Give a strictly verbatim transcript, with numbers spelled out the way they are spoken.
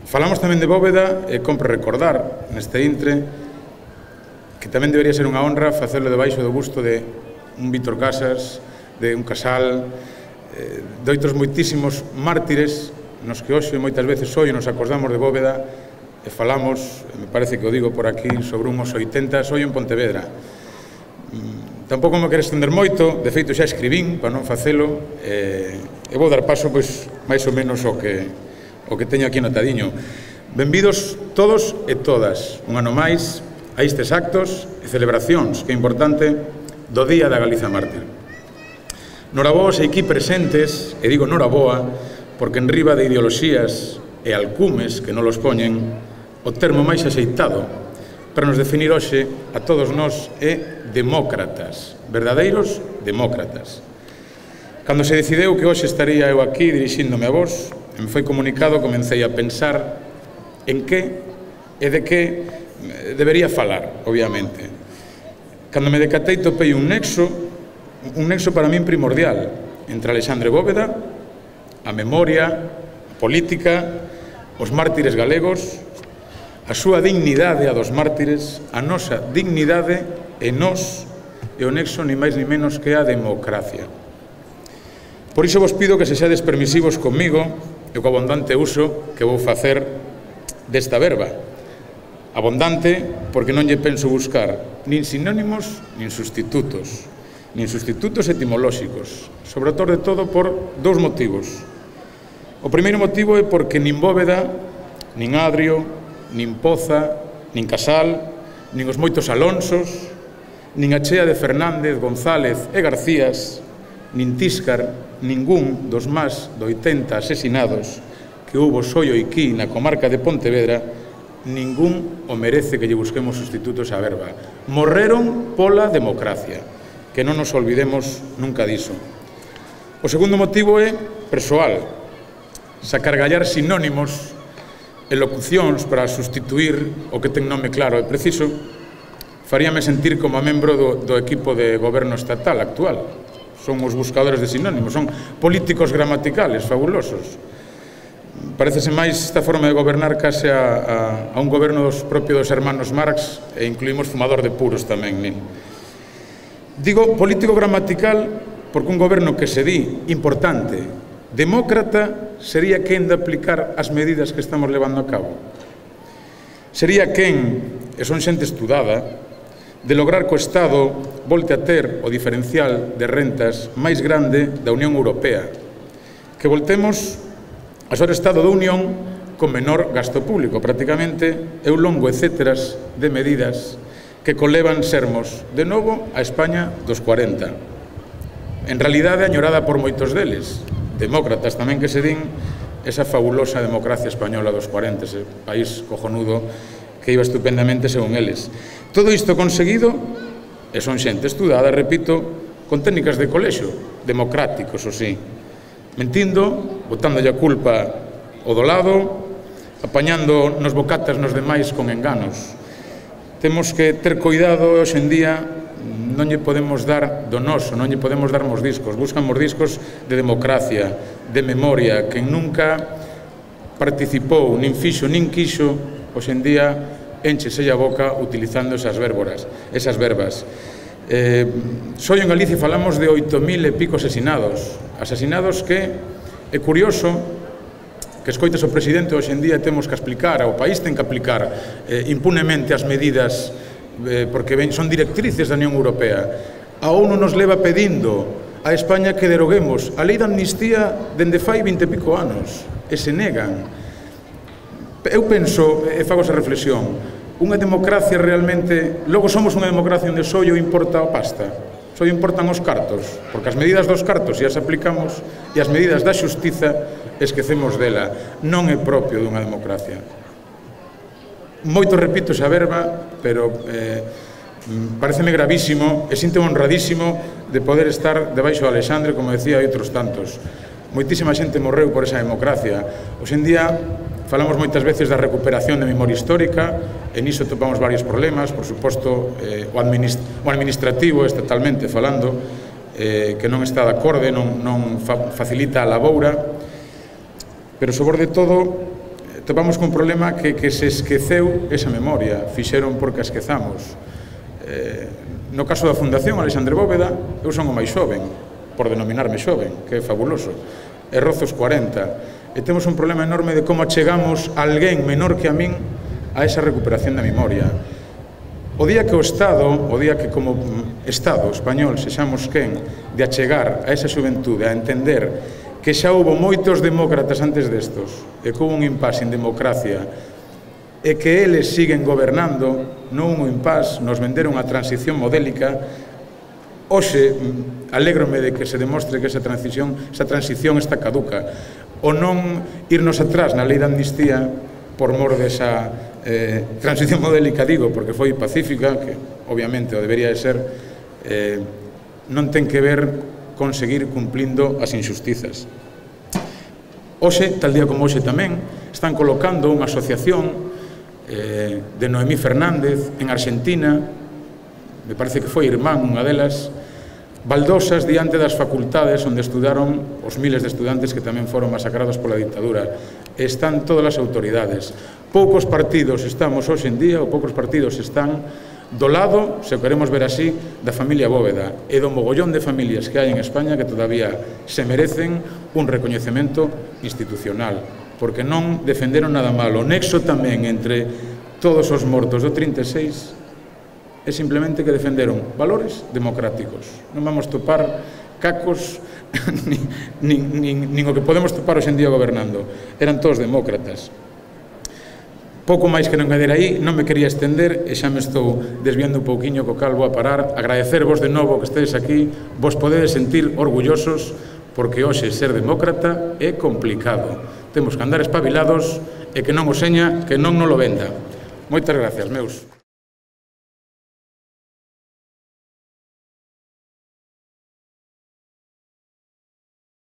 Falamos tamén de Bóveda e compre recordar neste intre que tamén debería ser unha honra facelo debaixo do busto de un Víctor Casas, de un Casal, de outros moitísimos mártires nos que hoxe moitas veces hoxe nos acordamos de Bóveda e falamos, me parece que o digo por aquí, sobre unhos oitenta hoxe en Pontevedra. Tampouco me quero estender moito, de feito xa escribín para non facelo e, e vou dar paso pois máis ou menos o que, o que teño aquí notadiño. Benvidos todos e todas, un ano máis, a estes actos e celebracións, que é importante, do Día da Galiza Mártir. Noraboa e aquí presentes, e digo noraboa, porque en riba de ideoloxías e alcumes que non los poñen, o termo máis axeitado para nos definir hoxe a todos nós é demócratas, verdadeiros demócratas. Cando se decideu que hoxe estaría eu aquí dirixíndome a vos, e me foi comunicado, comecei a pensar en que e de que debería falar, obviamente. Cando me decatei topei un nexo, un nexo para min primordial, entre Alexandre Bóveda, a memoria, a política, os mártires galegos, a súa dignidade a dos mártires, a nosa dignidade e nós, e o nexo ni máis ni menos que a democracia. Por iso vos pido que sexades permisivos comigo e co abundante uso que vou facer desta verba. Abundante porque non lle penso buscar nin sinónimos nin sustitutos, nin sustitutos etimolóxicos, sobre todo de todo por dous motivos. O primeiro motivo é porque nin Bóveda, nin Adrio, nin Poza, nin Casal, nin os moitos Alonsos, nin a chea de Fernández, González e Garcías, nin Tíscar, ningún dos máis de oitenta asesinados que houbo só aquí na comarca de Pontevedra, ningún o merece que lle busquemos sustitutos á verba. Morreron pola democracia, que non nos olvidemos nunca diso. O segundo motivo é persoal, sacargallar sinónimos e locucións para sustituir o que ten nome claro e preciso, faríame sentir como membro do, do equipo de goberno estatal actual. Son os buscadores de sinónimos, son políticos gramaticales fabulosos. Parecese máis esta forma de gobernar case a, a, a un goberno dos propios dos hermanos Marx e incluímos fumador de puros tamén, nin. Digo político gramatical porque un goberno que se di importante, demócrata, sería quen de aplicar as medidas que estamos levando a cabo. Sería quen, e son xente estudada, de lograr que o Estado volte a ter o diferencial de rentas máis grande da Unión Europea, que voltemos a ser Estado da Unión con menor gasto público, prácticamente, e un longo etcéteras de medidas que conlevan sermos, de novo, a España dos cuarenta. En realidade, añorada por moitos deles, demócratas tamén que se din, esa fabulosa democracia española dos cuarenta, ese país cojonudo que iba estupendamente según eles. Todo isto conseguido, e son xente estudada, repito, con técnicas de colexio, democráticos, o sí, mentindo, botándolle a culpa o do lado, apañando nos bocatas nos demais con enganos. Temos que ter cuidado, hoxe en día non lle podemos dar do noso, non lle podemos dar mordiscos, buscan mordiscos de democracia, de memoria, que nunca participou, nin fixo, nin quixo, hoxe en día enchese a boca utilizando esas vérboras, esas verbas. Eh, só en Galicia falamos de oito mil e pico asesinados, asesinados que é curioso que escoites o presidente hoxe en día temos que explicar, o país ten que aplicar eh, impunemente as medidas eh, porque ben, son directrices da Unión Europea. A ONU nos leva pedindo a España que deroguemos a lei de amnistía dende fai vinte e pico anos e se negan. Eu penso, e fago esa reflexión, unha democracia realmente, logo somos unha democracia onde só importa a pasta, só importan os cartos, porque as medidas dos cartos e as aplicamos e as medidas da xustiza esquecemos dela. Non é propio dunha democracia. Moito repito esa verba, pero eh, pareceme gravísimo e sinto honradísimo de poder estar debaixo de Alexandre, como decía, e outros tantos. Moitísima xente morreu por esa democracia. Hoxe en día falamos moitas veces da recuperación de memoria histórica, e niso topamos varios problemas, por suposto, eh, o, administ o administrativo, estatalmente falando, eh, que non está de acorde, non, non fa facilita a laboura, pero sobre de todo topamos cun problema que, que se esqueceu esa memoria, fixeron porque a esquezamos. Eh, no caso da Fundación Alexandre Bóveda, eu son o máis xoven, por denominarme xoven, que é fabuloso, e rozo os corenta, e temos un problema enorme de como achegamos a alguén menor que a min a esa recuperación da memoria. O día que o Estado, o día que como Estado español sexamos quen de achegar a esa xuventude a entender que xa houve moitos demócratas antes destos e que houve un impás en democracia e que eles siguen gobernando, non un impás, nos venderon a transición modélica. Hoxe, alégrome de que se demostre que esa transición, esa transición está caduca, o non irnos atrás na lei de amnistía por mor desa eh, transición modélica, digo, porque foi pacífica, que obviamente o debería de ser, eh, non ten que ver con seguir cumplindo as injustizas. Hoxe, tal día como hoxe tamén, están colocando unha asociación eh, de Noemí Fernández en Argentina, me parece que foi irmán unha delas, baldosas diante das facultades onde estudaron os miles de estudantes que tamén foron masacrados pola dictadura. Están todas as autoridades. Poucos partidos estamos hoxe en día, ou poucos partidos están do lado, se o queremos ver así, da familia Bóveda e do mogollón de familias que hai en España que todavía se merecen un recoñecemento institucional, porque non defenderon nada malo. O nexo tamén entre todos os mortos do trinta e seis é simplemente que defenderon valores democráticos. Non vamos topar cacos nin, nin, nin, nin o que podemos topar hoxe en día gobernando. Eran todos demócratas. Pouco máis que non engadir aí, non me quería estender e xa me estou desviando un pouquiño, co cal vou a parar. Agradecervos de novo que estedes aquí, vos podedes sentir orgullosos, porque hoxe ser demócrata é complicado. Temos que andar espabilados e que non o seña, que non nos lo venda. Moitas gracias, meus.